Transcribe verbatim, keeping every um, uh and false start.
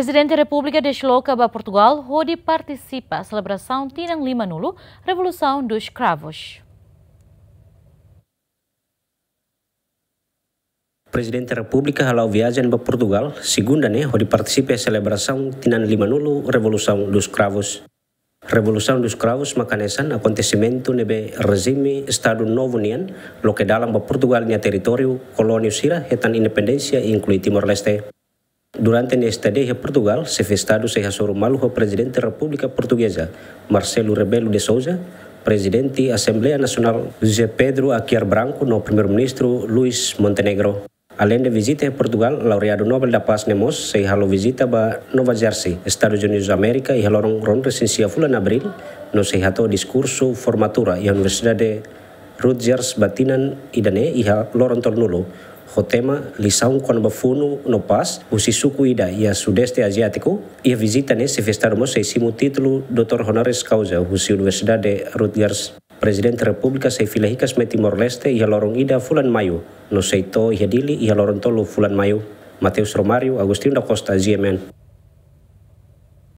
Prezidente Repúblika desloka ba Portugal hodi partisipa selebrasaun tinan lima-nulu Revolução dos Cravos. Prezidente Repúblika hala'o viajen ba Portugal, segunda ne'e, hodi partisipa selebrasaun tinan lima-nulu Revolução dos Cravos. Revolução dos Cravos mak hanesan akontesimentu ne'ebé rejime Estadu Novu nian loke dalan ba Portugal nia territóriu kolóniu sira hetan independénsia, inklui Timor-Leste. Durante nia estadia iha Portugal, Xefe Estadu sei hasoru malu ho Prezidente Repúblika Portugeza, Marcelo Rebelo de Sousa, Prezidente Asembleia Nasionál, José Pedro Aguiar Branco, no Primeiru-Ministru Luís Montenegro. Aleinde vizita iha Portugal, laureadu Nobel da Paz ne'e mós sei halo vizita ba Nova Jersey, Estadus Unidus Amérika, iha loron ruanulu-resin-sia fulan Abríl, no sei hato'o diskursu formatura iha Universidade Rutgers ba tinan ida-ne'e iha loron tolunulu, ho tema Lisaun kona-ba Funu no Pás husi Suku Ida iha Sudeste Aziátiku. Iha vizita ne'e, Xefe Estadu mós sei simu títulu Doutór Honoris Causa husi Universidade Rutgers. Prezidente Repúblika sei fila hikas mai Timor-Leste iha loron ida fulan Maiu, no sei to'o iha Dili iha loron tolu fulan Maiu. Mateus Romário, Agostinho da Costa, G M N.